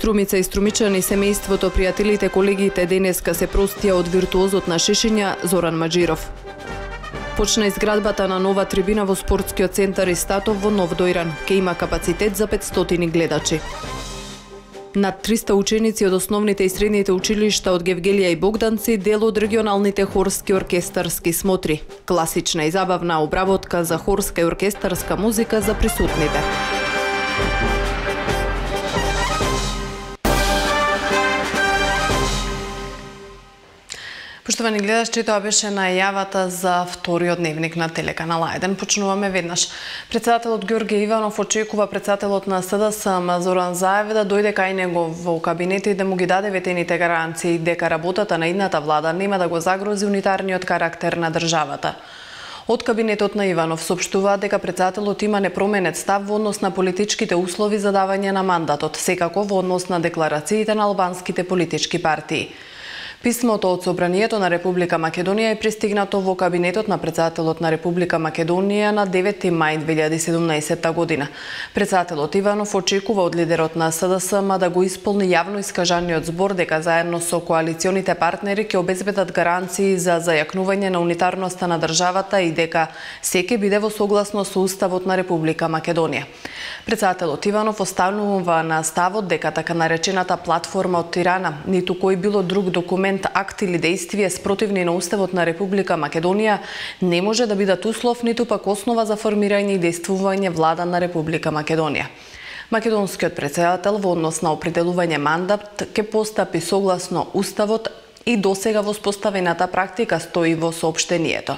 Струмица и струмичани, семејството, пријателите, колегите денеска се простија од виртуозот на шишење Зоран Маџиров. Почна изградбата на нова трибина во спортскиот центар Истатов во Нов Дојран. Ке има капацитет за 500 гледачи. Над 300 ученици од основните и средните училишта од Гевгелија и Богданци дел од регионалните хорски оркестарски смотри. Класична и забавна обработка за хорска и оркестарска музика за присутните. Поштовани гледачи, тоа беше најавата за вториот дневник на телеканал 1. Почнуваме веднаш. Председателот Ѓорѓе Иванов очекува председателот на СДСМ Зоран Заев да дојде кај него во кабинет и да му ги даде ветените гаранции дека работата на идната влада нема да го загрози унитарниот карактер на државата. Од кабинетот на Иванов соопштуваат дека председателот има непроменет став во однос на политичките услови за давање на мандатот, секако во однос на декларациите на албанските политички партии. Писмото од Собранието на Република Македонија е пристигнато во кабинетот на председателот на Република Македонија на 9 мај 2017 година. Председателот Иванов очекува од лидерот на СДСМ да го исполни јавно искажаниот збор дека заедно со коалиционите партнери ќе обезбедат гаранции за зајакнување на унитарноста на државата и дека се ќе биде во согласност со Уставот на Република Македонија. Председателот Иванов останува на ставот дека така наречената платформа од Тирана, ниту кој било друг документ, акт или действие спротивни на Уставот на Република Македонија не може да бидат услов ниту пак основа за формирање и действување влада на Република Македонија. Македонскиот председател во однос на определување мандат ќе постапи согласно Уставот и досега воспоставената практика, стои во соопштението.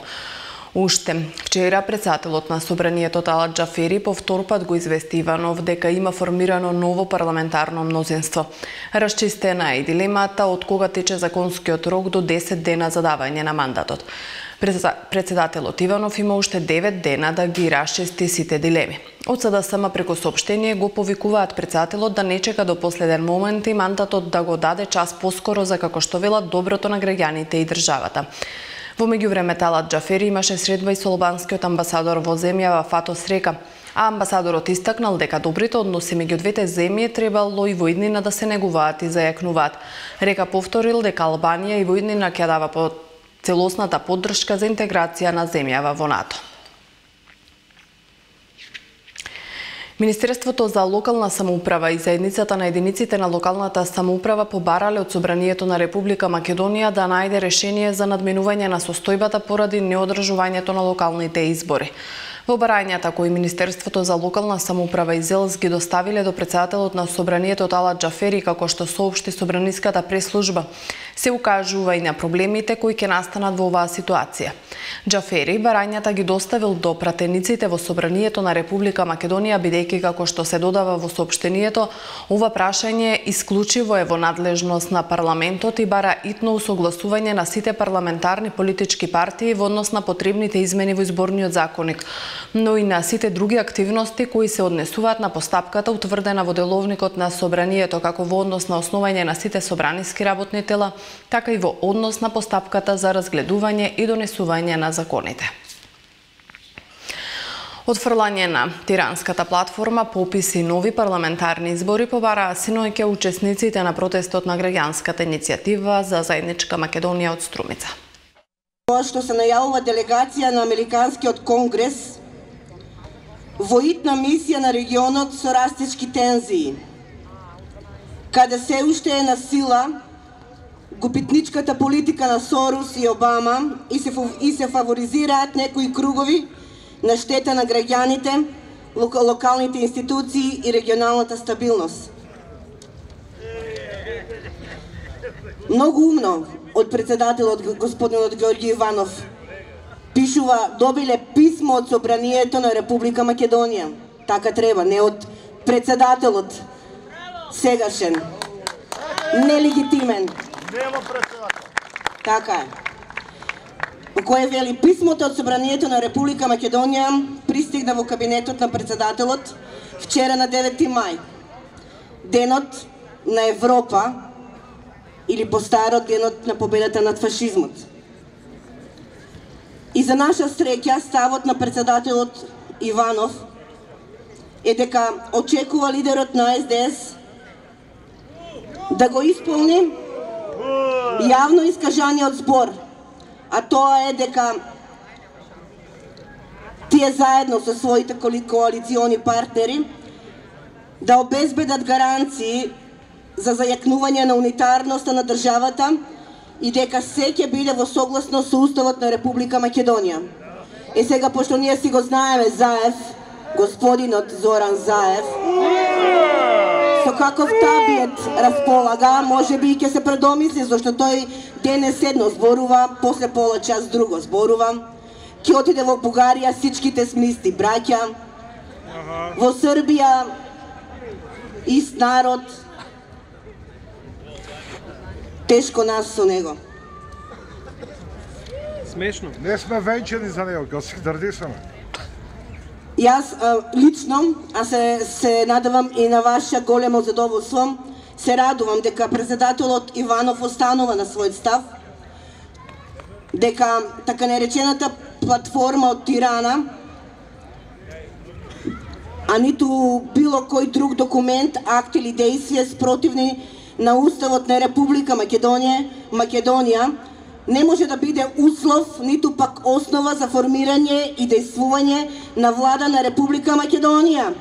Уште вчера председателот на Собранието Талат Џафери по втор пат го извести Иванов дека има формирано ново парламентарно мнозинство. Расчистена е дилемата од кога тече законскиот рок до 10 дена за давање на мандатот. Председателот Иванов има уште 9 дена да ги расчисти сите дилеми. Од СДСМ преку соопштение го повикуваат председателот да не чека до последен момент и мандатот да го даде час поскоро за, како што велат, доброто на граѓаните и државата. Во меѓувреме Талат Џафери имаше средба и со албанскиот амбасадор во земјава Фато Срека, а амбасадорот истакнал дека добрите односи меѓу двете земји требало и во иднина да се негуваат и зајакнуваат. Река повторил дека Албанија и во иднина ќе дава по целосната поддршка за интеграција на земјава во НАТО. Министерството за локална самоуправа и заедницата на единиците на локалната самоуправа побарале од Собранието на Република Македонија да најде решение за надминување на состојбата поради неодржувањето на локалните избори. Во барањата кои Министерството за локална самоуправа и ЗЕЛС ги доставиле до председателот на Собранието Талат Џафери, како што соопшти Собраниската прес-служба, се укажува и на проблемите кои ќе настанат во оваа ситуација. Џафери барањата ги доставил до пратениците во Собранието на Република Македонија, бидејќи, како што се додава во соопштението, ова прашање исклучиво е во надлежност на парламентот и бара итно усогласување на сите парламентарни политички партии во однос на потребните измени во изборниот законник, но и на сите други активности кои се однесуваат на постапката утврдена во деловникот на Собранието, како во однос на основање на сите собраниски работни тела, така и во однос на постапката за разгледување и донесување на законите. Отфрлање на тиранската платформа, пописи нови парламентарни избори побараа синоќа учесниците на протестот на граѓанската иницијатива за заедничка Македонија од Струмица. Тоа што се најавува делегација на Американскиот конгрес во итна мисија на регионот со растечки тензии, каде се уште е на сила губитничката политика на Сорос и Обама и се фаворизираат некои кругови на штета на граѓаните, локалните институции и регионалната стабилност. Многу умно од председателот господинот Ѓорѓе Иванов пишува, добиле писмо од Собранието на Република Македонија. Така треба, не од председателот сегашен, нелегитимен. Нема председател. Така е. Во кое вели писмото од Собранието на Република Македонија пристигна во кабинетот на председателот вчера на 9 мај. Денот на Европа или постаро денот на победата над фашизмот. И за наша среќа ставот на председателот Иванов е дека очекува лидерот на СДС да го исполни јавно искажаниот збор, а тоа е дека тие заедно со своите коалициони партнери да обезбедат гаранции за зајакнување на унитарноста на државата и дека се ќе биде во согласно со Уставот на Република Македонија. И сега, пошто ние си го знаеме Заев, господинот Зоран Заев, со каков табиет располага, може би ќе се предомисли, зашто тој денес едно зборува, после пола час друго зборува, ќе отиде во Бугарија, сичките сме исти браќа, во Србија ист народ, тешко нас со него. Смешно. Не сме венчани за него, го си дрдисаме. Јас лично, а се надевам и на ваше големо задоволство, се радувам дека председателот Иванов останува на својот став, дека така наречената платформа од Тирана, а ниту било кој друг документ, акт или действие спротивни на Уставот на Република Македонија, не може да биде услов, ниту пак основа за формирање и действување на влада на Република Македонија.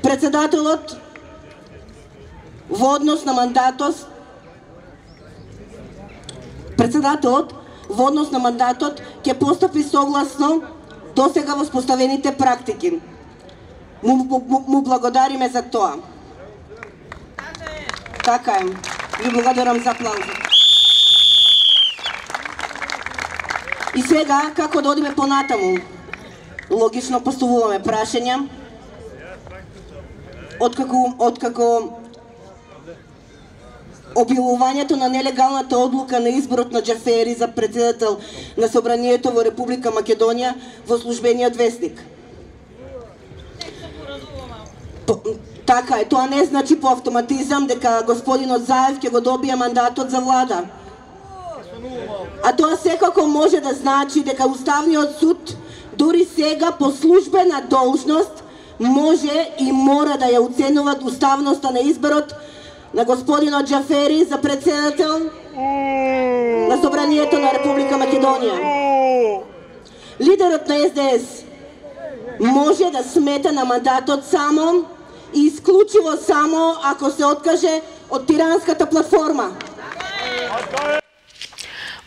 Председателот во однос на мандатот ќе постапи согласно досега воспоставените практики. Му благодариме за тоа. Така е. Ви благодарам за аплаузот. И сега, како да одиме понатаму? Логично поставуваме прашања. Откако објавувањето на нелегалната одлука на изборот на Џафери за председател на Собранието во Република Македонија во службениот весник. Така е, тоа не значи по автоматизам дека господинот Заев ќе го добие мандатот за влада. А тоа секако може да значи дека Уставниот суд дури сега по службена должност може и мора да ја оценува уставноста на изборот на господинот Џафери за председател на Собранието на Република Македонија. Лидерот на СДС може да смета на мандатот само и исклучиво само ако се откаже од тиранската платформа.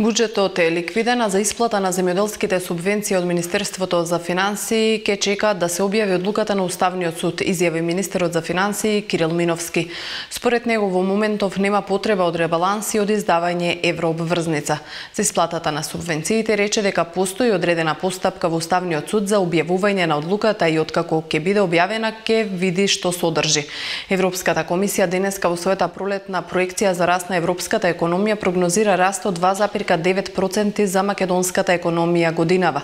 Буџетот е ликвиден, а за исплата на земјоделските субвенции од Министерството за финансии ќе чекаат да се објави одлуката на Уставниот суд, изјави министерот за финансии Кирил Миновски. Според него во моментов нема потреба од ребаланс и од издавање еврообврзница. За исплатата на субвенциите рече дека постои одредена постапка во Уставниот суд за објавување на одлуката и откако ќе биде објавена ќе види што содржи. Европската комисија денеска во својата пролетна проекција за раст на европската економија прогнозира раст од 2,9% за македонската економија годинава,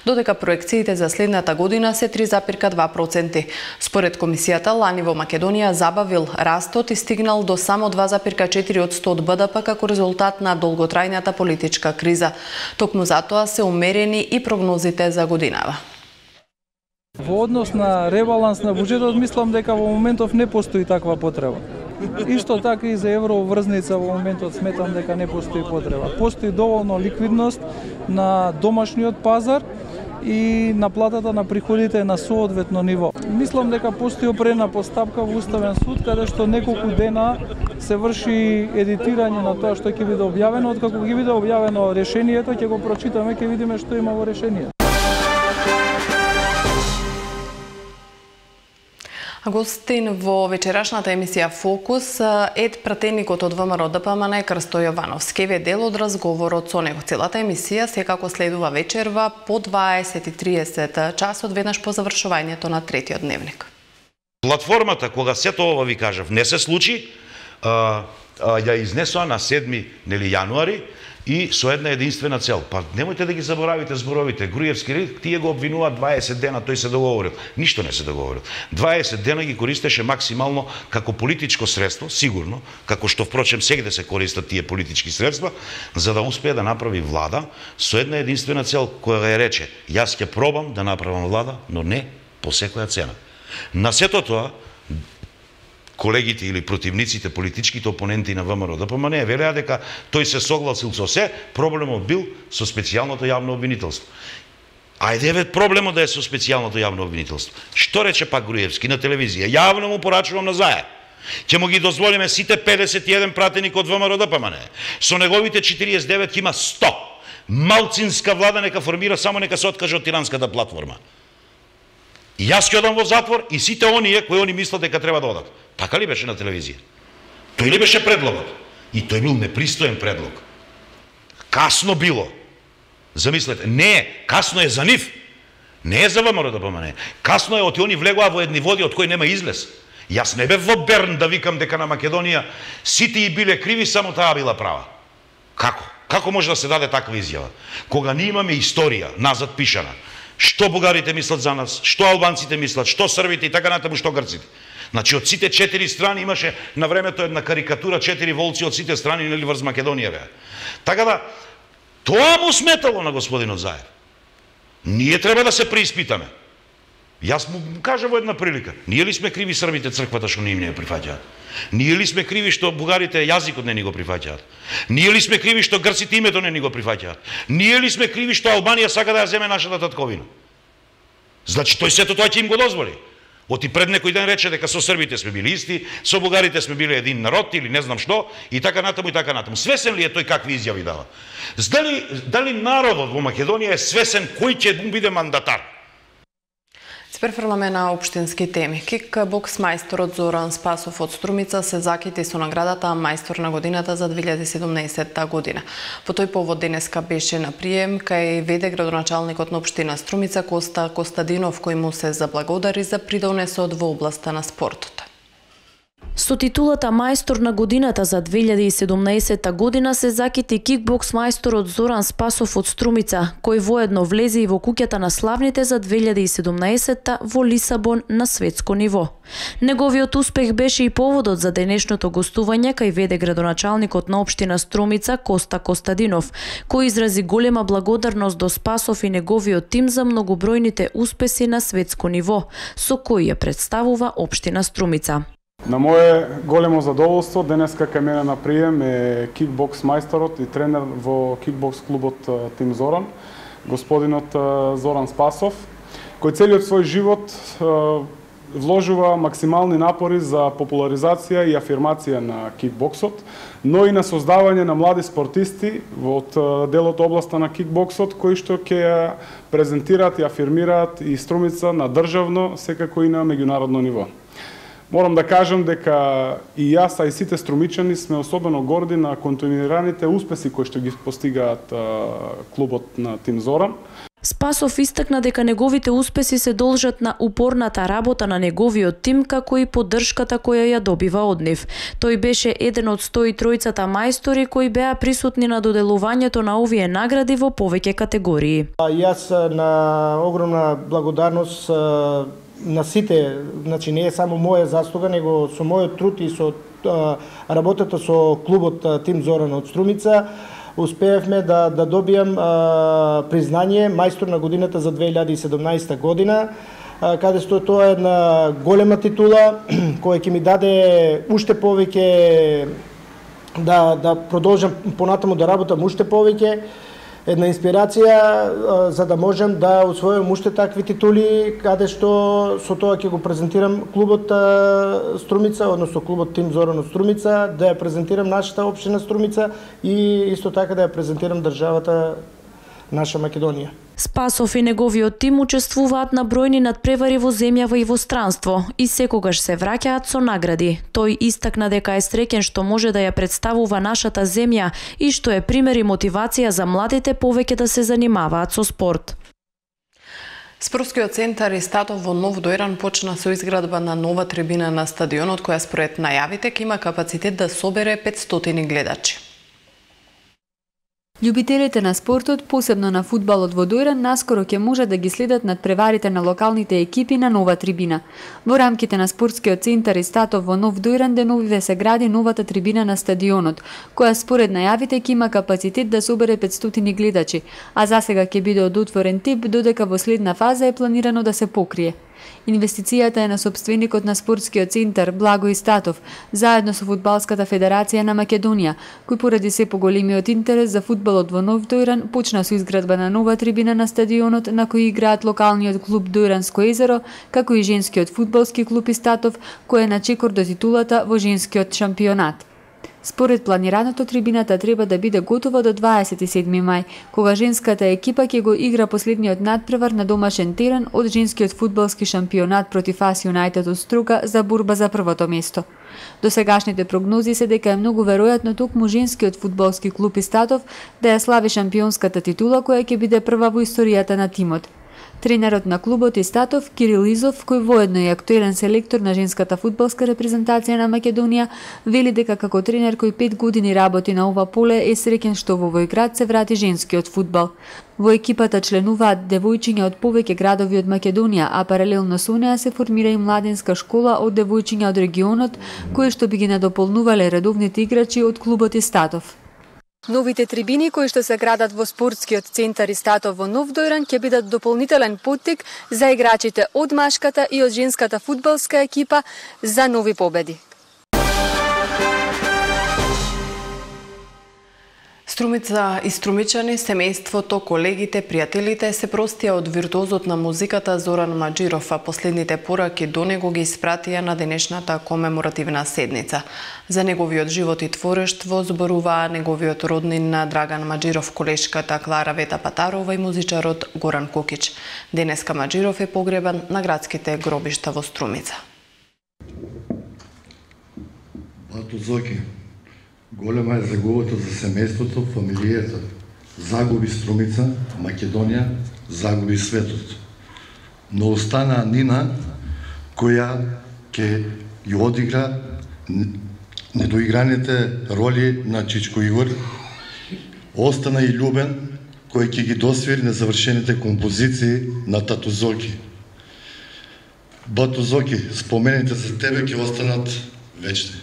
додека проекциите за следната година се 3,2%. Според комисијата, лани во Македонија забавил растот и стигнал до само 2,4% од БДП како резултат на долготрајната политичка криза. Токму затоа се умерени и прогнозите за годинава. Во однос на ребаланс на буџетот, мислам дека во моментов не постои таква потреба. Исто така и за евроврзница во моментот сметам дека не постои потреба. Постои доволно ликвидност на домашниот пазар и наплатата на приходите на соодветно ниво. Мислам дека постои определена постапка во Уставен суд каде што неколку дена се врши едитирање на тоа што ќе биде објавено. Откако ќе биде објавено решението, ќе го прочитаме, ќе видиме што има во решението. Гостин во вечерашната емисија Фокус е пратеникот од ВМРО ДПМН Крсто Јовановски. Ве дел од разговорот со него. Целата емисија секако следува вечерва по 20:30 часот, веднаш по завршувањето на третиот дневник. Платформата, кога сето ова ви кажав, не се случи, ја изнесоа на 7 јануари и со една единствена цел. Па немојте да ги заборавите зборовите. Груевски, тие го обвинуваат 20 дена, тој се договорил. Ништо не се договорил. 20 дена ги користеше максимално како политичко средство, сигурно, како што впрочем сегде се користат тие политички средства, за да успее да направи влада со една единствена цел, која ја рече: јас ќе пробам да направам влада, но не по секоја цена. На сето тоа, колегите или противниците, политичките опоненти на ВМРО-ДПМНЕ велеа дека тој се согласил со се, проблемот бил со специјалното јавно обвинителство. Ајде еве проблемот да е со специјалното јавно обвинителство. Што рече пак Груевски на телевизија? Јавно му порачувам на Заев. Ќе му ги дозволиме сите 51 пратеник од ВМРО-ДПМНЕ. Со неговите 49 ќе има 100. Малцинска влада нека формира, само нека се откаже од тиранската платформа. И јас ќе одам во затвор и сите оние кои они мислат дека треба да одат. Така ли беше на телевизија? Тој ли беше предлогот? И тој бил непристоен предлог. Касно било. Замислете, не, касно е за нив. Не е за ВМРО-ДПМНЕ. Касно е од они влегоа во едни води од кои нема излез. Јас не бев во Берн да викам дека на Македонија сите и биле криви, само таа била права. Како? Како може да се даде таква изјава? Кога ние имаме историја назад пишана, што бугарите мислат за нас, што албанците мислат, што србите и така натаму, што грците. Значи од сите 4 страни имаше на времето една карикатура 4 волци од сите страни нели врз Македонија беа. Така да тоа му сметало на господинот Заев. Ние треба да се преиспитаме. Јас му кажа во една прилика, ние ли сме криви србите црквата што не им не ја прифаќаат? Ние ли сме криви што бугарите јазикот не ни го прифаќаат? Ние ли сме криви што грците името не ни го прифаќаат? Ние ли сме криви што Албанија сака да ја земе нашата татковина? Значи тој сето тоа ќе им го дозволи. Оти пред некој ден рече дека со србите сме били исти, со бугарите сме били един народ или не знам што, и така натаму и така натаму. Свесен ли е тој какви изјави дава? Дали народот во Македонија е свесен кој ќе му биде мандатар? Се префрламе на општински теми. Кикбокс мајсторот Зоран Спасов од Струмица се закити со наградата Мајстор на годината за 2017 година. По тој повод денеска беше на прием кај веде градоначалникот на општина Струмица Коста Костадинов, кој му се заблагодари за придонесот во областа на спортот. Со титулата Мајстор на годината за 2017 година се закити кикбокс мајсторот Зоран Спасов од Струмица, кој воедно влезе и во куќата на славните за 2017 во Лисабон на светско ниво. Неговиот успех беше и поводот за денешното гостување кај веде градоначалникот на општина Струмица Коста Костадинов, кој изрази голема благодарност до Спасов и неговиот тим за многобројните успеси на светско ниво, со кои ја представува општина Струмица. На мое големо задоволство денеска кај мене на прием е кикбокс мајсторот и тренер во кикбокс клубот Тим Зоран, господинот Зоран Спасов, кој целиот свој живот вложува максимални напори за популаризација и афирмација на кикбоксот, но и на создавање на млади спортисти од делот областа на кикбоксот, кои што ќе ја презентираат и афирмираат и Струмица на државно, секако и на меѓународно ниво. Морам да кажам дека и јас, а и сите струмичани сме особено горди на континуираните успеси кои што ги постигаат клубот на Тим Зоран. Спасов истакна дека неговите успеси се должат на упорната работа на неговиот тим, како и поддршката која ја добива од нив. Тој беше еден од 103 мајстори кои беа присутни на доделувањето на овие награди во повеќе категории. Јас на огромна благодарност на сите, значи не е само моја заслуга, него со мојот труд и со работата со клубот Тим Зоран од Струмица, успеевме да добијам признање Мајстор на годината за 2017 година, каде што тоа е една голема титула која ќе ми даде уште повеќе да продолжам понатаму да работам уште повеќе, една инспирација за да можам да усвојам уште такви титули, каде што со тоа ќе го презентирам клубот Струмица, односно клубот Тим Зоран од Струмица, да ја презентирам нашата општина Струмица и исто така да ја презентирам државата наша Македонија. Спасов и неговиот тим учествуваат на бројни надпревари во земјава и во странство и секогаш се враќаат со награди. Тој истакна дека е среќен што може да ја представува нашата земја и што е пример и мотивација за младите повеќе да се занимаваат со спорт. Спортскиот центар Истатов во Нов Дојран почна со изградба на нова трибина на стадионот, која според најавите ќе има капацитет да собере 500 гледачи. Љубителите на спортот, посебно на фудбалот во Дојран, наскоро ќе можат да ги следат надпреварите на локалните екипи на нова трибина. Во рамките на спортскиот центар Истатов во Нов Дојран деновиве се гради новата трибина на стадионот, која според најавите ќе има капацитет да собере 500 гледачи, а засега ќе биде од отворен тип, додека во следна фаза е планирано да се покрие. Инвестицијата е на сопственикот на спортскиот центар Благој Статов, заедно со Фудбалската федерација на Македонија, кој поради се поголемиот интерес за фудбалот во Нов Дојран почна со изградба на нова трибина на стадионот на кој играат локалниот клуб Дојранско езеро, како и женскиот фудбалски клуб Истатов, кој е на чекор до титулата во женскиот шампионат. Според планираното, трибината треба да биде готова до 27 мај, кога женската екипа ќе го игра последниот надпревар на домашен терен од женскиот фудбалски шампионат против АС Юнајтед од Струка за борба за првото место. Досегашните прогнози се дека е многу веројатно токму женскиот фудбалски клуб Истатов да ја слави шампионската титула која ќе биде прва во историјата на тимот. Тренерот на клубот Истатов, Кирил Изов, кој воедно е актуелен селектор на женската фудбалска репрезентација на Македонија, вели дека како тренер кој 5 години работи на ова поле е среќен што во овој град се врати женскиот фудбал. Во екипата членуваат девојчиња од повеќе градови од Македонија, а паралелно со неа се формира и младенска школа од девојчиња од регионот, кои што би ги надополнувале редовните играчи од клубот Истатов. Новите трибини кои што се градат во спортскиот центар Истатов во Нов Дојран ќе бидат дополнителен поттик за играчите од машката и од женската фудбалска екипа за нови победи. Струмица и струмичани, семејството, колегите, пријателите се простија од виртуозот на музиката Зоран Маџиров, а последните пораки до него ги испратија на денешната комеморативна седница. За неговиот живот и творештво зборуваа неговиот роднин Драган Маџиров, колешката Клара Вета Патарова и музичарот Горан Кокич. Денеска Маџиров е погребан на градските гробишта во Струмица. Бато Зоки, голема е загубата за семејството, фамилијата. Загуби Струмица, Македонија, загуби светот. Но остана Нина, која ќе ја одигра недоиграните роли на Чичко Игор. Остана и Љубен, кој ќе ги досвири незавршените композиции на Тату Зоки. Бато Зоки, спомените за тебе ќе останат вечни.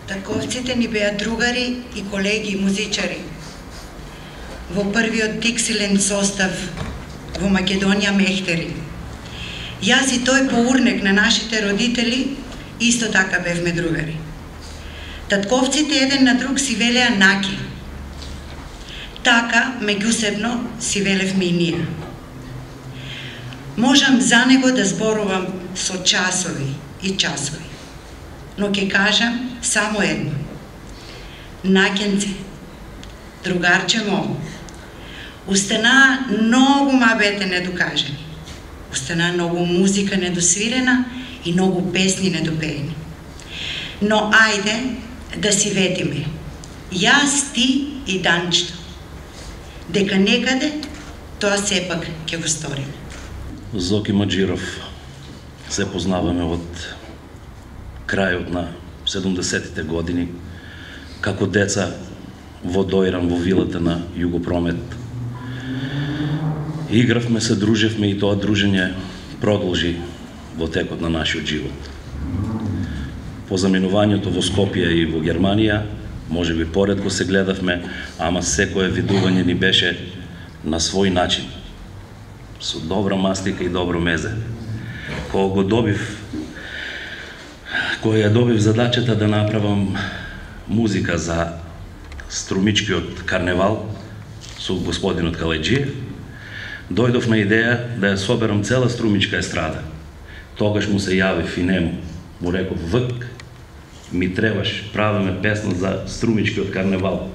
Татковците ни беа другари и колеги и музичари. Во првиот Диксилен состав во Македонија Мехтери. Јас и тој по урнек на нашите родители исто така бевме другари. Татковците еден на друг си велеа наки. Така, меѓусебно, си велевме и ние. Можам за него да зборувам со часови и часови. Но ќе кажам само едно. Накенце, другарче мој, устана многу мабете недокажени. Устана многу музика недосвирена и многу песни недопеени. Но ајде да си ветиме. Јас, ти и Данчето. Дека некаде тоа сепак ќе го сториме. Зоки Маџиров се познаваме од крајот на 70-тите години, како деца во Дојран, во вилата на Југопромет. Игравме, се дружевме и тоа дружење продолжи во текот на нашиот живот. По заминувањето во Скопје и во Германија, може би поредко се гледавме, ама секое видување ни беше на свој начин, со добра мастика и добро мезе. Кога ја добив задачата да направам музика за струмичкиот карневал со господинот Калајџиев, дојдов на идеја да ја соберам цела струмичка естрада. Тогаш му се јавив и нему, му реков, вк, ми требаш, правиме песна за струмичкиот карневал.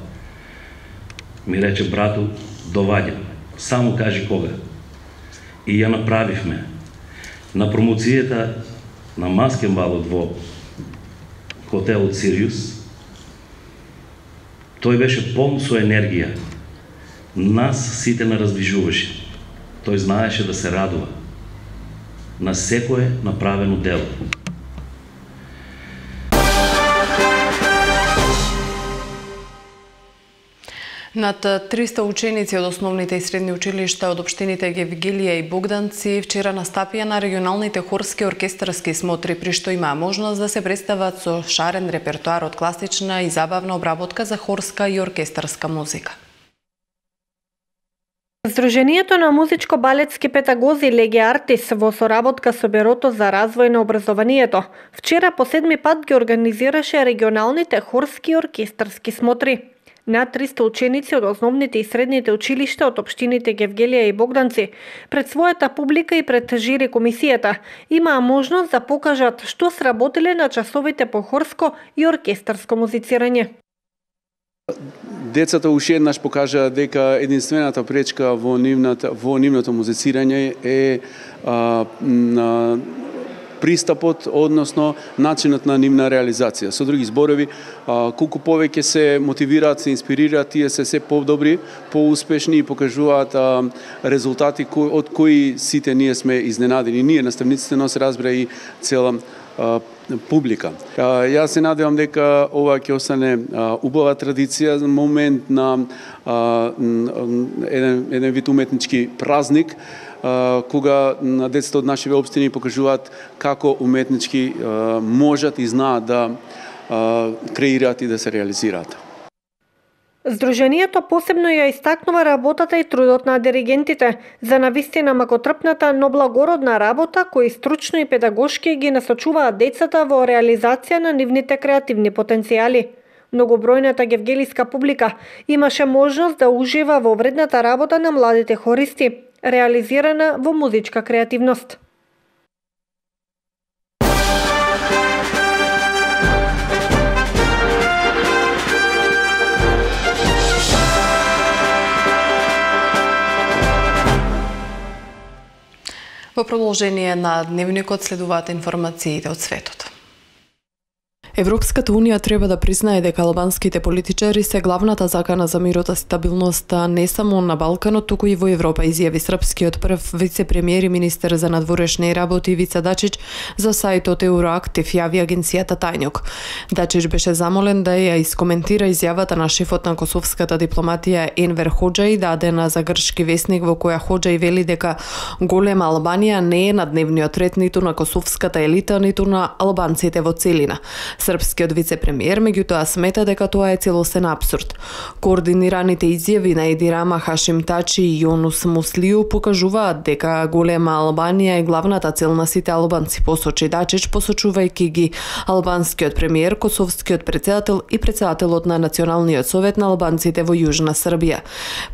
Ми рече, брату, доваѓа, само кажи кога. И ја направивме. На промоцијата на маскенбалот во хотелот Сириус, тој беше полн со енергија. Нас сите нараздвижуваше. Тој знаеше да се радува на секое направено дело. Над 300 ученици од основните и средни училишта од општините Гевгелија и Богданци вчера настапија на регионалните хорски оркестарски смотри, при што имаа можност да се представат со шарен репертоар од класична и забавна обработка за хорска и оркестарска музика. Сдруженијето на музичко-балетски педагози Леги Артис во соработка со Бюрото за развој на образованието вчера по 7 пат ги организираше регионалните хорски и оркестарски смотри. Над 300 ученици од основните и средните училишта од општините Гевгелија и Богданци пред својата публика и пред жири комисијата имаа можност да покажат што сработиле на часовите по хорско и оркестарско музицирање. Децата уште еднаш покажаа дека единствената пречка во нивното музицирање е пристапот, односно начинот на нивна реализација. Со други зборови, колку повеќе се мотивираат, се инспирираат, тие се подобри, поуспешни и покажуваат резултати од кои сите ние сме изненадени. Ние, наставниците, но се разбира и цела публика. Јас се надевам дека ова ќе остане убава традиција, момент на еден вид уметнички празник, кога децата од нашите општини покажуваат како уметнички можат и знаат да креираат и да се реализираат. Сдруженијето посебно ја истакнува работата и трудот на диригентите за навистина макотрпната, но благородна работа кои стручно и педагошки ги насочуваат децата во реализација на нивните креативни потенцијали. Многобројната гевгелиска публика имаше можност да ужива во вредната работа на младите хористи, реализирана во музичка креативност. Во продолжение на дневникот следуваат информациите од светот. Европската Унија треба да признае дека албанските политичари се главната закана за мирот и стабилноста не само на Балканот, туку и во Европа, изјави српскиот прв вице-премиер и министер за надворешни работи Ивица Дачич за сајтот Евроактив, јави агенцијата Тајнјук. Дачич беше замолен да ја искоментира изјавата на шефот на косовската дипломатија Енвер Хоџај, дадена за грчки весник, во која Хоџај вели дека голема Албанија не е на дневниот ред ниту на косовската елита, ниту на албанците во целина. Српскиот вице-премиер меѓутоа смета дека тоа е целосен апсурд. Координираните изјави на Еди Рама, Хашим Тачи и Јонус Муслиу покажуваат дека голема Албанија е главната цел на сите албанци, посочи Дачич, посочувајќи ги албанскиот премиер, косовскиот председател и председателот на Националниот совет на албанците во Јужна Србија.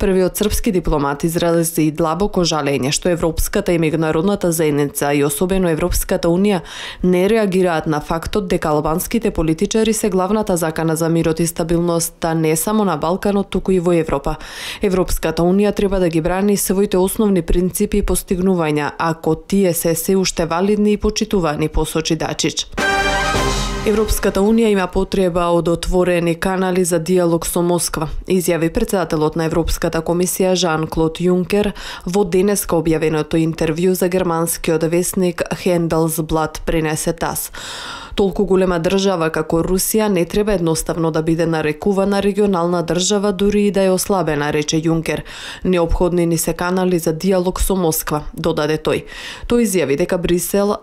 Првиот српски дипломат изрази длабоко жалење што Европската и меѓународната заедница и особено Европската Унија не реагираат на фактот дека албанските политичари се главната закана за мирот и стабилноста не само на Балканот, туку и во Европа. Европската Унија треба да ги брани своите основни принципи и постигнувања, ако тие се уште валидни и почитувани, посочи Дачич. Европската Унија има потреба од отворени канали за диалог со Москва, изјави председателот на Европската комисија Жан-Клод Јункер во денеска објавеното интервју за германскиот весник Handelsblatt пренесе ТАСС. Толку голема држава како Русија не треба едноставно да биде нарекувана регионална држава, дури и да е ослабена, рече Јункер. Неопходни ни се канали за диалог со Москва, додаде тој. Тој изјави дека Брисел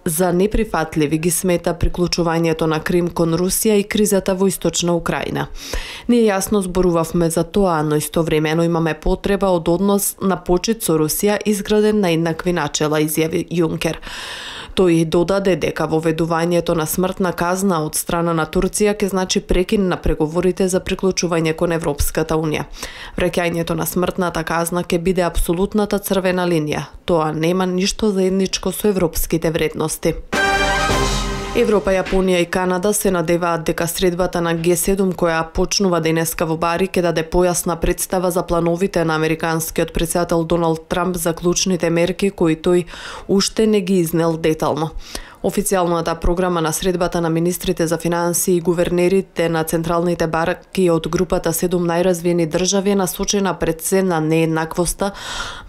за неприфатливи ги смета приклучувањето на Крим кон Русија и кризата во Источна Украина. Ние јасно зборувавме за тоа, но истовремено имаме потреба од однос на почит со Русија изграден на еднакви начела, изјави Јункер. Тој додаде дека воведувањето на смртна казна од страна на Турција ќе значи прекин на преговорите за приклучување кон Европската Унија. Враќањето на смртната казна ќе биде апсолутната црвена линија. Тоа нема ништо заедничко со европските вредности. Европа, Јапонија и Канада се надеваат дека средбата на Г7 која почнува денеска во Бари ќе даде појасна представа за плановите на американскиот председател Доналд Трамп за клучните мерки кои тој уште не ги изнел детално. Официјалната програма на средбата на министрите за финансии и гувернерите на централните банки од групата 7 најразвиени држави е насочена пред се на нееднаквоста,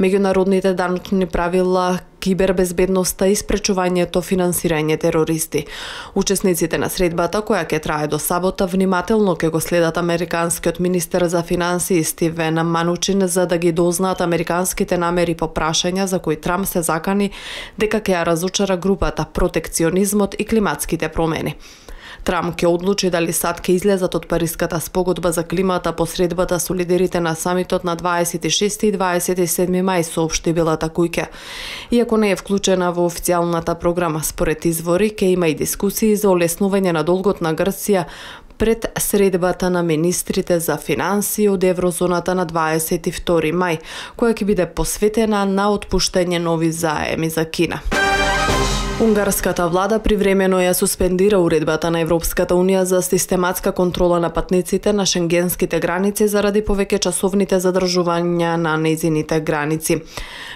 меѓународните даночни правила, кибербезбедноста и спречувањето финансирање терористи. Учесниците на средбата, која ќе трае до сабота, внимателно ќе го следат американскиот министер за финансии Стивен Манучин за да ги дознаат американските намери по прашања за кои Трамп се закани дека ќе ја разочара групата, протекционизмот и климатските промени. Трамп ќе одлучи дали САД ќе излезат од Париската спогодба за климата по средбата со лидерите на самитот на 26 и 27 мај, соопшти Белата куќа. Иако не е вклучена во официјалната програма, според извори ќе има и дискусии за олеснување на долгот на Грција пред средбата на министрите за финансии од еврозоната на 22 мај, која ќе биде посветена на отпуштање нови заеми за Кина. Унгарската влада привремено ја суспендира уредбата на Европската Унија за систематска контрола на патниците на шенгенските граници заради повеќе часовните задржувања на нејзините граници.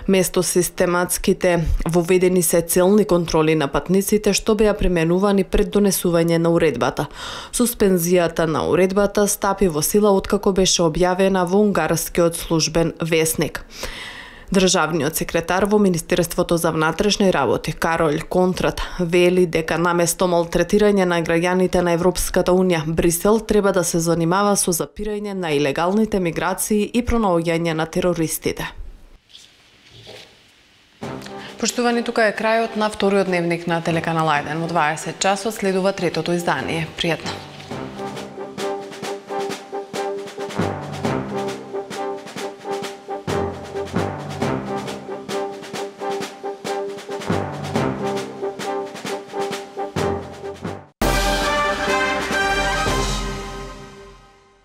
Место систематските воведени се целни контроли на патниците што беа применувани пред донесување на уредбата. Суспензијата на уредбата стапи во сила откако беше објавена во унгарскиот службен весник. Државниот секретар во Министерството за внатрешни работи Карол Контрат вели дека наместо малтретирање на граѓаните на Европската Унија, Брисел треба да се занимава со запирање на илегалните миграции и пронаоѓање на терористите. Поштувани, тука е крајот на вториот дневник на телеканал 1. Во 20 часот следува третото издание. Пријатно!